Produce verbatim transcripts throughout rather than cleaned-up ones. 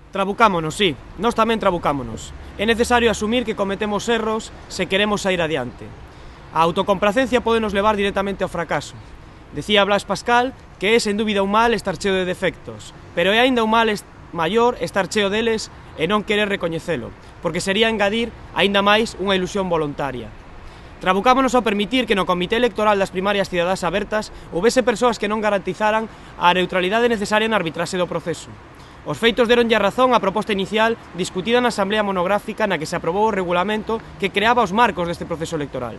Trabucámonos, sí, nós tamén trabucámonos. É necesario asumir que cometemos erros se queremos sair adiante. A autocomplacencia pode nos levar directamente ao fracaso. Decía Blas Pascal que é sen dúbida un mal estar cheo de defectos, pero é aínda un mal maior estar cheo deles e non querer recoñecelo, porque sería engadir aínda máis unha ilusión voluntaria. Trabucámonos ao permitir que no Comité Electoral das primarias cidadás abertas houvese persoas que non garantizaran a neutralidade necesaria na arbitraxe do proceso. Os feitos deronlle a razón á proposta inicial discutida na Asamblea Monográfica na que se aprobou o regulamento que creaba os marcos deste proceso electoral.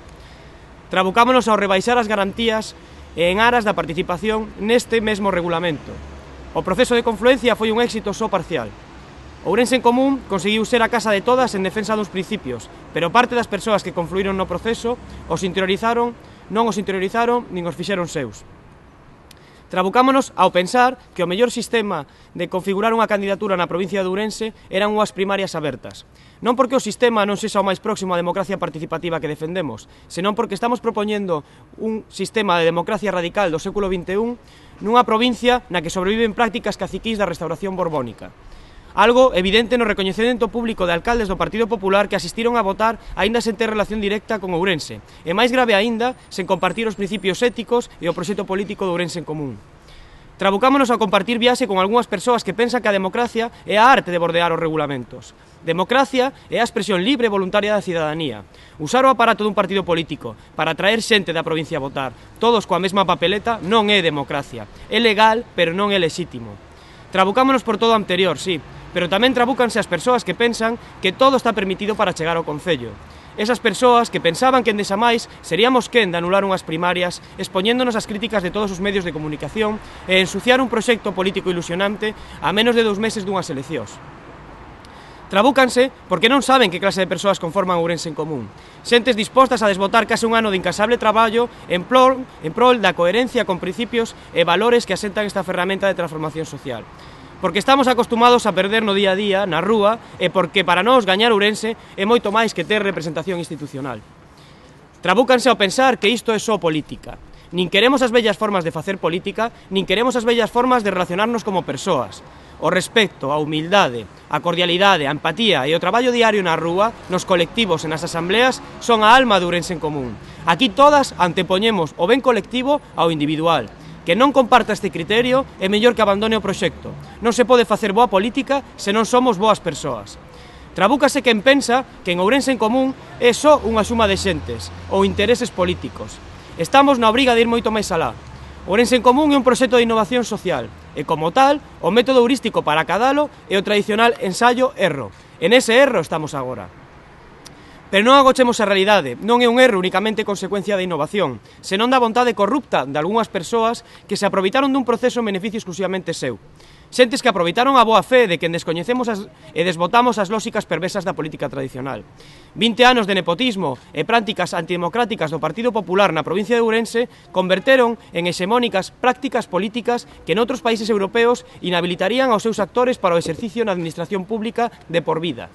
Trabucámonos ao rebaixar as garantías en aras da participación neste mesmo regulamento. O proceso de confluencia foi un éxito só parcial. Ourense en Común conseguiu ser a casa de todas en defensa dos principios, pero parte das persoas que confluíron no proceso os interiorizaron, non os interiorizaron nin os fixeron seus. Trabucámonos ao pensar que o mellor sistema de configurar unha candidatura na provincia de Ourense eran unhas primarias abertas. Non porque o sistema non sexa o máis próximo á democracia participativa que defendemos, senón porque estamos propoñendo un sistema de democracia radical do século vinte e un nunha provincia na que sobreviven prácticas caciquís da restauración borbónica. Algo evidente no recoñecemento público de alcaldes do Partido Popular que asistiron a votar aínda sen ter relación directa con Ourense, e máis grave aínda, sen compartir os principios éticos e o proxecto político de Ourense en Común. Trabucámonos a compartir viaxe con algunhas persoas que pensan que a democracia é a arte de bordear os regulamentos. Democracia é a expresión libre e voluntaria da cidadanía. Usar o aparato dun partido político para atraer xente da provincia a votar, todos coa mesma papeleta, non é democracia. É legal, pero non é lexítimo. Trabucámonos por todo o anterior, sí, pero tamén trabúcanse as persoas que pensan que todo está permitido para chegar ao Concello. Esas persoas que pensaban que endexamais seríamos quen de anular unhas primarias expoñéndonos as críticas de todos os medios de comunicación e ensuciar un proxecto político ilusionante a menos de dous meses dunhas eleccións. Trabúcanse porque non saben que clase de persoas conforman Ourense en Común. Xentes dispostas a desbotar case un ano de incasable traballo en prol, en prol da coherencia con principios e valores que asentan esta ferramenta de transformación social. Porque estamos acostumados a perder no día a día, na rúa, e porque para nós gañar Ourense é moito máis que ter representación institucional. Trabúcanse ao pensar que isto é só política. Nin queremos as vellas formas de facer política, nin queremos as vellas formas de relacionarnos como persoas. O respecto, a humildade, a cordialidade, a empatía e o traballo diario na rúa, nos colectivos e nas asambleas, son a alma de Ourense en Común. Aquí todas antepoñemos o ben colectivo ao individual. Que non comparta este criterio é mellor que abandone o proxecto. Non se pode facer boa política se non somos boas persoas. Trabúcase quen pensa que en Ourense en Común é só unha suma de xentes ou intereses políticos. Estamos na obriga de ir moito máis alá. Ourense en Común é un proxecto de innovación social e, como tal, o método heurístico para acadalo é o tradicional ensaio-erro. En ese erro estamos agora. Pero non agochemos a realidade, non é un erro únicamente consecuencia da innovación, senón da vontade corrupta de algunhas persoas que se aproveitaron dun proceso en beneficio exclusivamente seu. Xentes que aproveitaron a boa fe de que descoñecemos as, e desbotamos as lóxicas perversas da política tradicional. vinte anos de nepotismo e prácticas antidemocráticas do Partido Popular na provincia de Ourense converteron en hexemónicas prácticas políticas que noutros países europeos inhabilitarían aos seus actores para o exercicio na administración pública de por vida.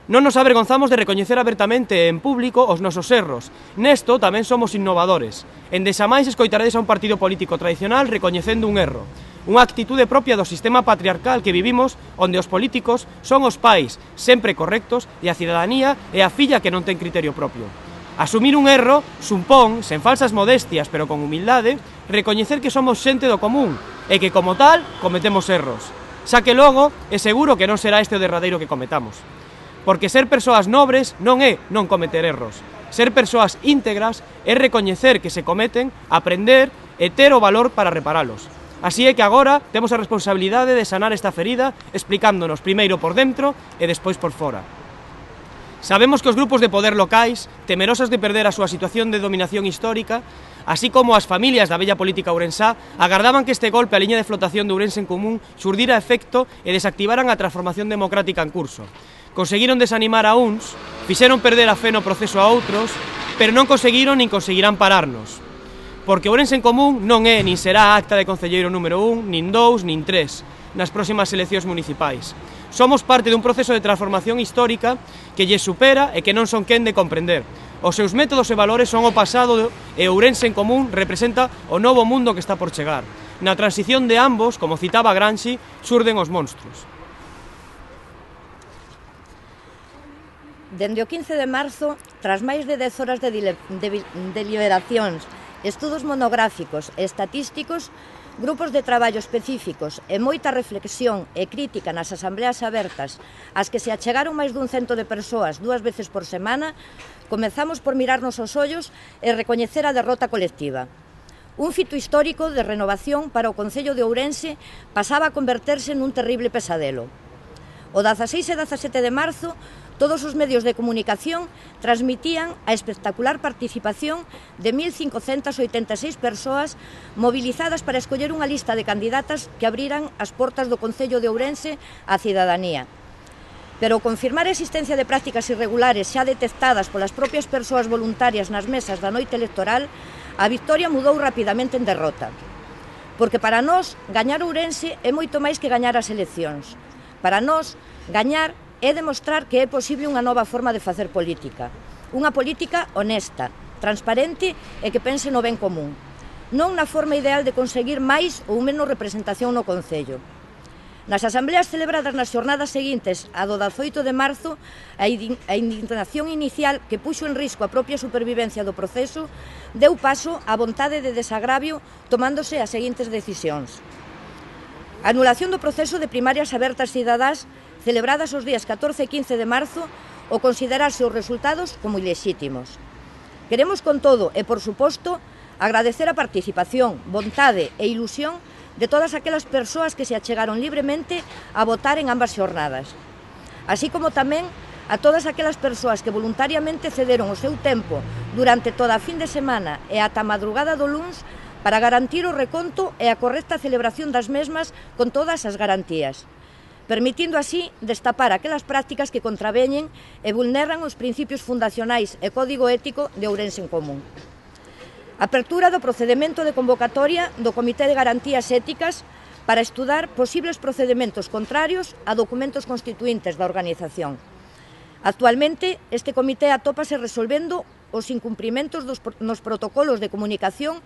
Non nos avergonzamos de recoñecer abertamente en público os nosos erros. Nesto tamén somos innovadores. Endexamais escoitaredes a un partido político tradicional recoñecendo un erro. Unha actitude propia do sistema patriarcal que vivimos, onde os políticos son os pais, sempre correctos, e a cidadanía é a filla que non ten criterio propio. Asumir un erro supón, sen falsas modestias, pero con humildade, recoñecer que somos xente do común e que, como tal, cometemos erros. Xa que logo, é seguro que non será este o derradeiro que cometamos. Porque ser persoas nobres non é non cometer erros. Ser persoas íntegras é recoñecer que se cometen, aprender e ter o valor para reparalos. Así é que agora temos a responsabilidade de sanar esta ferida explicándonos primeiro por dentro e despois por fora. Sabemos que os grupos de poder locais, temerosas de perder a súa situación de dominación histórica, así como as familias da bella política ourensá, agardaban que este golpe á liña de flotación de Ourense en Común xurdira efecto e desactivaran a transformación democrática en curso. Conseguiron desanimar a uns, fixeron perder a fe no proceso a outros, pero non conseguiron nin conseguirán pararnos. Porque Ourense en Común non é nin será a acta de concelleiro número un, nin dous, nin tres, nas próximas eleccións municipais. Somos parte dun proceso de transformación histórica que lle supera e que non son quen de comprender. Os seus métodos e valores son o pasado e Ourense en Común representa o novo mundo que está por chegar. Na transición de ambos, como citaba Gramsci, xurden os monstruos. Dende o quince de marzo, tras máis de dez horas de, de, de deliberacións, estudos monográficos e estatísticos, grupos de traballo específicos e moita reflexión e crítica nas asambleas abertas ás que se achegaron máis dun cento de persoas dúas veces por semana, comezamos por mirarnos os ollos e recoñecer a derrota colectiva. Un fito histórico de renovación para o Concello de Ourense pasaba a converterse nun terrible pesadelo. O dezaseis e dezasete de marzo, todos os medios de comunicación transmitían a espectacular participación de mil cincocentas oitenta e seis persoas movilizadas para escoller unha lista de candidatas que abriran as portas do Concello de Ourense á cidadanía. Pero ao confirmar a existencia de prácticas irregulares xa detectadas polas propias persoas voluntarias nas mesas da noite electoral, a victoria mudou rapidamente en derrota. Porque para nós, gañar Ourense é moito máis que gañar as eleccións. Para nós, gañar é demostrar que é posible unha nova forma de facer política. Unha política honesta, transparente e que pense no ben común. Non na forma ideal de conseguir máis ou menos representación no Concello. Nas asambleas celebradas nas xornadas seguintes a do dezaoito de marzo, a indignación inicial que puxo en risco a propia supervivencia do proceso deu paso á vontade de desagravio tomándose as seguintes decisións. A anulación do proceso de primarias abertas cidadás celebradas os días catorce e quince de marzo ou considerarse os resultados como ilexítimos. Queremos, con todo, e por suposto, agradecer a participación, vontade e ilusión de todas aquelas persoas que se achegaron libremente a votar en ambas xornadas, así como tamén a todas aquelas persoas que voluntariamente cederon o seu tempo durante toda a fin de semana e ata a madrugada do luns para garantir o reconto e a correcta celebración das mesmas con todas as garantías, permitindo así destapar aquelas prácticas que contraveñen e vulneran os principios fundacionais e código ético de Ourense en Común. Apertura do procedemento de convocatoria do Comité de Garantías Éticas para estudar posibles procedimentos contrarios a documentos constituíntes da organización. Actualmente, este comité atópase resolvendo os incumprimentos dos, nos protocolos de comunicación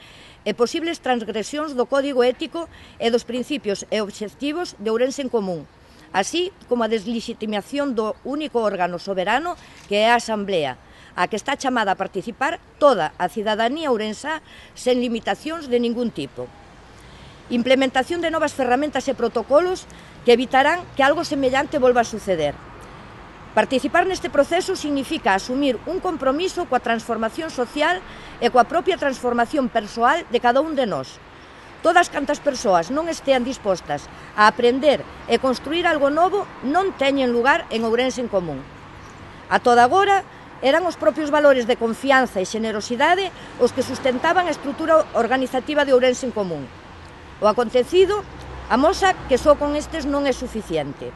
e posibles transgresións do código ético e dos principios e obxectivos de Ourense en Común, así como a deslegitimación do único órgano soberano que é a Asamblea, a que está chamada a participar toda a cidadanía ourensá sen limitacións de ningún tipo. Implementación de novas ferramentas e protocolos que evitarán que algo semellante volva a suceder. Participar neste proceso significa asumir un compromiso coa transformación social e coa propia transformación persoal de cada un de nós. Todas cantas persoas non estean dispostas a aprender e construir algo novo non teñen lugar en Ourense en Común. A toda agora, eran os propios valores de confianza e xenerosidade os que sustentaban a estrutura organizativa de Ourense en Común. O acontecido amosa que só con estes non é suficiente.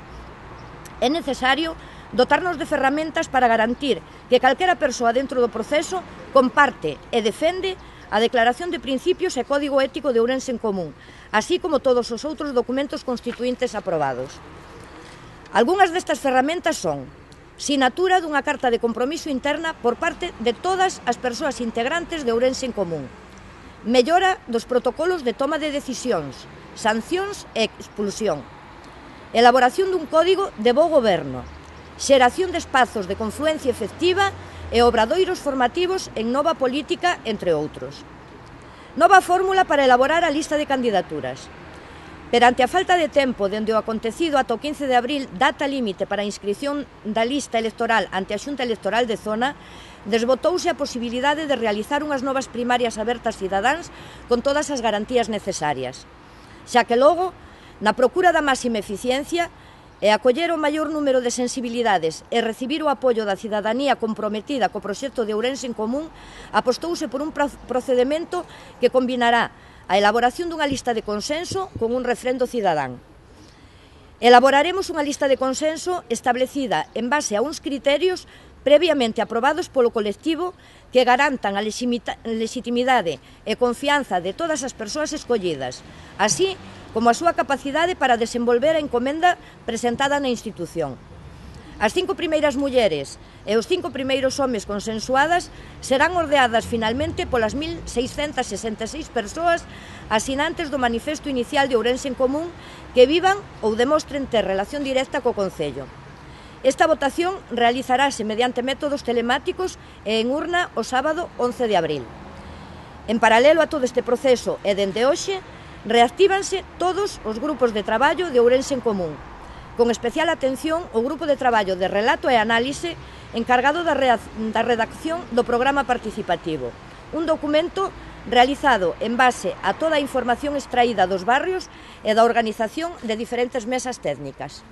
É necesario dotarnos de ferramentas para garantir que calquera persoa dentro do proceso comparte e defende a Declaración de Principios e Código Ético de Ourense en Común, así como todos os outros documentos constituíntes aprobados. Algúnas destas ferramentas son sinatura dunha carta de compromiso interna por parte de todas as persoas integrantes de Ourense en Común, mellora dos protocolos de toma de decisións, sancións e expulsión, elaboración dun código de bo goberno, xeración de espazos de confluencia efectiva e obradoiros formativos en nova política, entre outros. Nova fórmula para elaborar a lista de candidaturas. Perante a falta de tempo dende o acontecido ata o quince de abril, data límite para a inscrición da lista electoral ante a Xunta Electoral de Zona, desbotouse a posibilidade de realizar unhas novas primarias abertas cidadáns con todas as garantías necesarias. Xa que logo, na procura da máxima eficiencia, e acoller o maior número de sensibilidades e recibir o apoio da cidadanía comprometida co proxecto de Ourense en Común, apostouse por un procedemento que combinará a elaboración dunha lista de consenso con un refrendo cidadán. Elaboraremos unha lista de consenso establecida en base a uns criterios previamente aprobados polo colectivo que garantan a legitimidade e confianza de todas as persoas escollidas, así como a súa capacidade para desenvolver a encomenda presentada na institución. As cinco primeiras mulleres e os cinco primeiros homes consensuadas serán ordeadas finalmente polas mil seiscentas sesenta e seis persoas asinantes do manifesto inicial de Ourense en Común que vivan ou demostren ter relación directa co Concello. Esta votación realizarase mediante métodos telemáticos e en urna o sábado once de abril. En paralelo a todo este proceso e dende hoxe, reactívanse todos os grupos de traballo de Ourense en Común, con especial atención o grupo de traballo de relato e análise encargado da redacción do programa participativo, un documento realizado en base a toda a información extraída dos barrios e da organización de diferentes mesas técnicas.